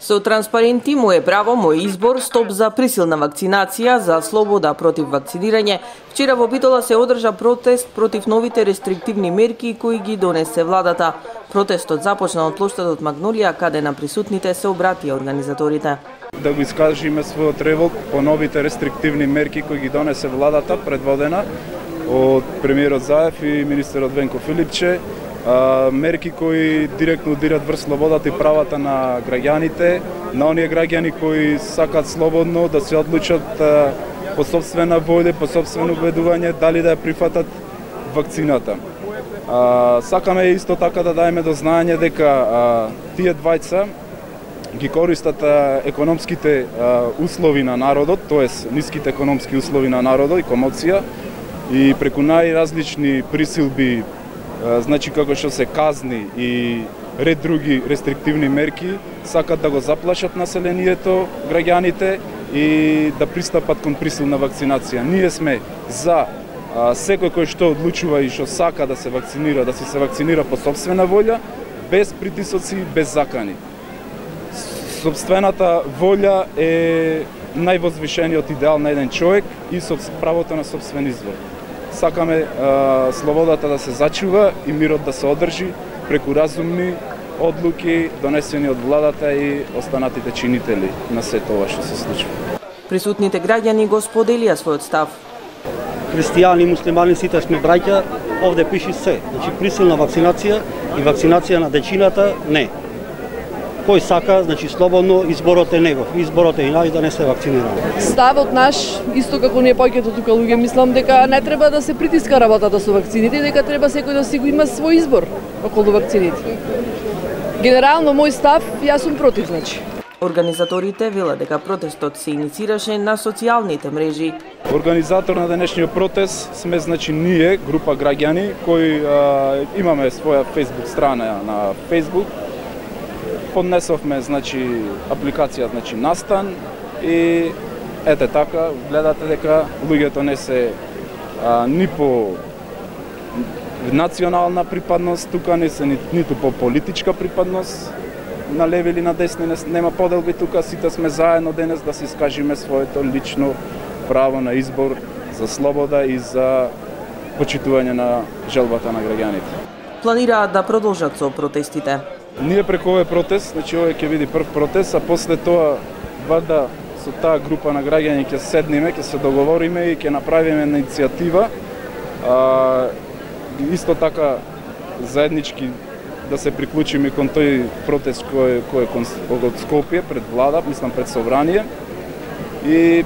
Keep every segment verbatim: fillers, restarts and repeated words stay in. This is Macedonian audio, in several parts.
Со транспаренти "Моје право, мој избор", стоп за присилна вакцинација, за слобода против вакцинирање, вчера во Битола се одржа протест против новите рестриктивни мерки кои ги донесе владата. Протестот започна од плоштадот Магнолија, каде на присутните се обратија организаторите. Да го искажиме својот револт по новите рестриктивни мерки кои ги донесе владата, предводена од премиерот Заев и министерот Венко Филипче, мерки кои директно удират врз слободата и правата на граѓаните, на оние граѓани кои сакаат слободно да се одлучат по сопствена волја, по сопствено убедување дали да ја прифатат вакцината. Сакаме исто така да даеме до знаење дека тие двајца ги користат економските услови на народот, тоест ниските економски услови на народот и комоција, и преку најразлични присилби, значи како што се казни и ред други рестриктивни мерки, сакат да го заплашат населението, граѓаните и да пристапат кон присилна вакцинација. Ние сме за секој кој што одлучува и што сака да се вакцинира, да се се вакцинира по сопствена волја, без притисоци, без закани. Сопствената волја е највозвишениот идеал на еден човек и со правото на сопствен избор. Сакаме а, слободата да се зачува и мирот да се одржи преку разумни одлуки донесени од владата и останатите чинители на сето ова што се случува. Присутните граѓани го споделија својот став. Христијани, муслимани, сите сме браќа, овде пише се. Значи присилна вакцинација и вакцинација на дечината не. Кој сака, значи слободно, изборот е негов. Изборот е и нај да не се вакцинираме. Ставот наш, исто како ние повеќето тука луѓе, мислам дека не треба да се притиска работата со вакцините, дека треба секој да си го има свој избор околу вакцините. Генерално мој став, јас сум против, значи. Организаторите велат дека протестот се иницираше на социјалните мрежи. Организатор на денешниот протест сме, значи, ние, група граѓани кои а, имаме своја Facebook страна на Facebook. Поднесовме, значи, апликација, значи, Настан и ете така, гледате дека луѓето не се а, ни по национална припадност, тука не се ни, ниту по политичка припадност, на леви или на десни не, нема поделби тука, сите сме заедно денес да се искажиме своето лично право на избор за слобода и за почитување на желбата на граѓаните. Планираат да продолжат со протестите. Ние преку овој протест, значи овој ќе биде прв протест, а после тоа вада со таа група на граѓани ќе седниме, ќе се договориме и ќе направиме една иницијатива, а, исто така заеднички да се приклучиме кон тој протест кој кој е од Скопје пред влада, мислам пред собрание, и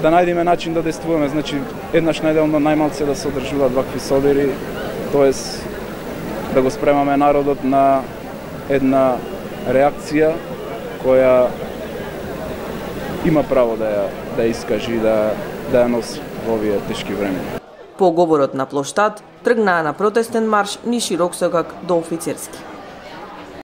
да најдеме начин да действуваме, значи еднаш неделно најмалце да се одржуваат вакви собери, тоест да го спремаме народот на една реакција која има право да ја да ја искажи, да да ја носи во овие тешки времења. По говорот на плоштад тргнаа на протестен марш низ Широксокак до Офицерски.